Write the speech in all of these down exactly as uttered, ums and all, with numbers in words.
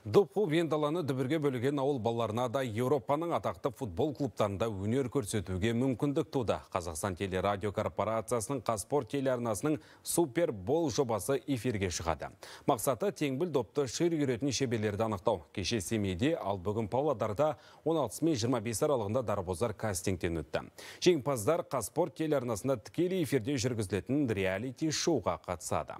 Допу вендаланы дүбірге бөліген ауыл балаларына да Еуропаның атақты футбол клубтарында өнер көрсетуге мүмкіндік туды. Қазақстан телерадио корпорациясының Қазспорт телеарнасының Супер Бол жобасы эфирге шығады. Мақсаты теңбіл допты шыр үйретін шеберлерді анықтау. Кеше Семейде, ал бүгін Павлодарда он алтысы мен жиырма бесі аралығында дарбозар кастингтен өтті. Жеңімпаздар Қазспорт телеарнасында тікелей эфирде жүргізілетін реалити шоуға қатысады.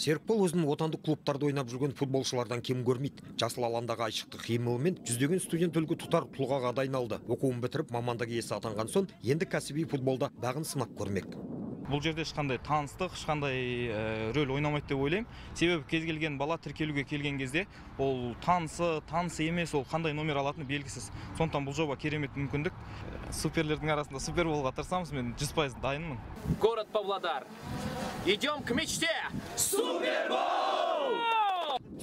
Серікбол өзінің отандық клубтарды ойнап жүрген футболшылардан кем көрмейді. Жасыл аландағы айшықты қимылымен жүздеген студент үлгі тұтар тұлғаға дайындалды. Оқуын бітіріп мамандық иесі атанған соң, енді кәсіби футболда бағын сынап көрмек. Бұл жерде ешқандай таныстық, ешқандай рөл ойнамайды деп ойлаймын. Себебі кез келген бала тіркелуге келген кезде ол танысы, танысы емес, ол қандай номер алатыны белгісіз. Сондықтан бұл жоба керемет мүмкіндік. Суперлердің арасында супер болуға тырысамыз, мен жүз пайыз дайынмын. Город Павлодар. Идем к мечте! Супербол!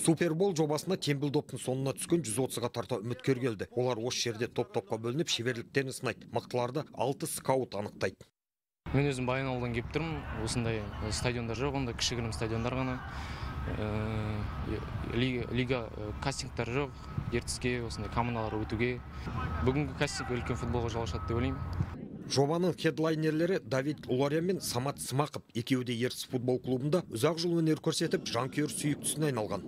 Супербол жобасына теңбіл доптың соңына түскен жүз отызға тарта үміткер келді. Олар осы жерде топ-топқа бөлініп шеберліктерін сынайды. Мықтыларды алты скаут анықтайды. Мен өзім Баянауылдан келіп тұрмын. Осындай стадиондар жоқ, онда кішігірім стадиондар ғана. Лига кастингтар жоқ, ертіске, осындай командалар өтуге. Бүгінгі кастинг үлкен футболға жол ашады деп ойлаймын. Жобаның хедлайнерлері Давид Улария мен Самат Смақов екеуі де Ертіс футбол клубында ұзақ жыл өнер көрсетіп, жанкүйер сүйіктісіне айналған.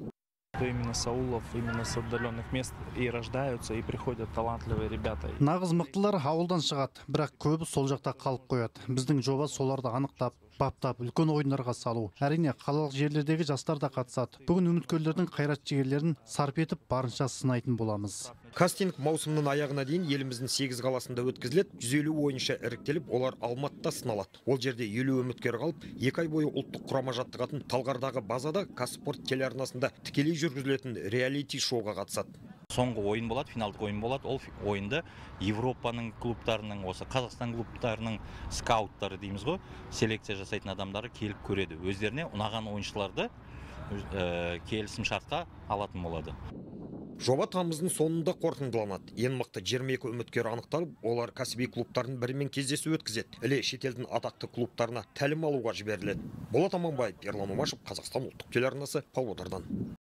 Именно с аулов, именно с отдаленных мест и рождаются, и приходят талантливые ребята. Нағыз мықтылар ауылдан шығады, бірақ көбі сол жақта қалып қояды. Біздің жоба соларды анықтап, баптап, үлкен ойындарға салу. Әрине, қалалық жерлердегі жастар да қатысады. Бүгін үміткерлердің қайрат жігерлерін сарп етіп, барынша сынайтын боламыз. Кастинг маусымның аяғына дейін еліміздің сегіз қаласында өткізіледі. жүз елу ойыншы іріктеліп, олар Алматыда сыналады. Ол жерде елу үміткер қалып, екі ай бойы ұлттық құрама жаттығатын Талғардағы базада Қазспорт телеарнасында тікелей жүргізілетін реалити шоуға қатысады. Соңғы ойын болады, финалдық ойын болады. Ол ойынды Европаның клубтарының, осы Қазақстан клубтарының скауттары дейміз ғой, селекция жасайтын адамдары келіп көреді. Өздеріне ұнаған ойыншыларды келісім шартқа алатын болады. Жоба тамыздың соңында қорытындыланады. Ең мықты жиырма екі үміткер анықталып, олар кәсіби клубтардың бірімен кездесу өткізеді. Іле шетелдің атақты клубтарына тәлім алуға жіберіледі. Болат Аманбаев, Ерлан Омашев, Қазақстан ұлттық телеарнасы, Павлодардан.